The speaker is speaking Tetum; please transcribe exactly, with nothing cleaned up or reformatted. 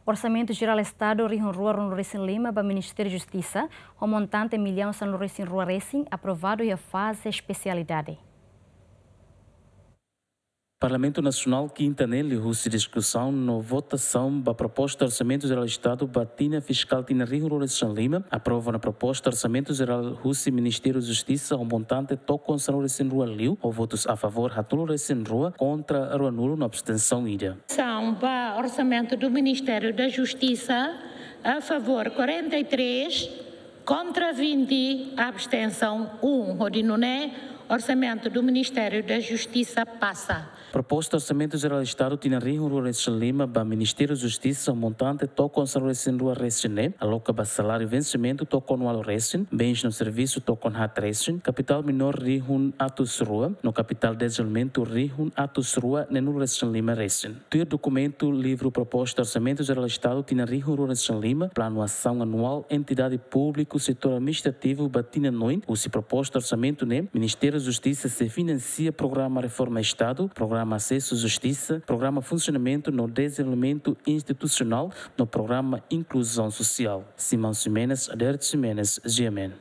Orsamentu Jerál Estadu rihun rua ruanulu resin lima ba Ministériu Justisa, ho montante millaun sanulu resin rua resin, aprovadu iha faze espesialidade. Parlamentu Nasionál kinta ne'e liuhusi diskusaun no votasaun ba proposta Orsamentu Jerál Estadu ba tinan fiskál tinan rihun rua resin lima, aprova ona proposta Orsamentu Jerál husi Ministériu Justisa ho montante tokon sanulu resin rua liu, ho votus a favór haatnulu resin rua, kontra ruanulu no abstensaun ida. São ba Orçamento do Ministério da Justiça, a favor quarenta e três, contra vinte, abstenção um. Hodi nune'e, Orçamento do Ministério da Justiça passa. Proposta Orsamentu Jerál Estadu tinan rihun rua resin lima ba Ministériu Justisa, montante tokon sanulu resin rua resin ne'e, aloka ba saláriu vensimentu tokon ualu resin, bens no servisu tokon haat resin, kapitál minór rihun atus rua, no kapitál dezenvolvimentu rihun atus rua neenulu resin lima resin. Tuir dokumentu livru proposta Orsamentu Jerál Estadu tinan rihun rua resin lima, planu asaun anuál entidade públiku setór administrativu ba tinan oin, husi proposta orsamentu ne'e, Ministériu Justisa sei finansia programa reforma Estadu, programa asesu justisa, programa funsionamentu no dezenvolvimentu institusionál, no programa inkluzaun sosiál. Simão Ximenes, Adérito Ximenes, G M N.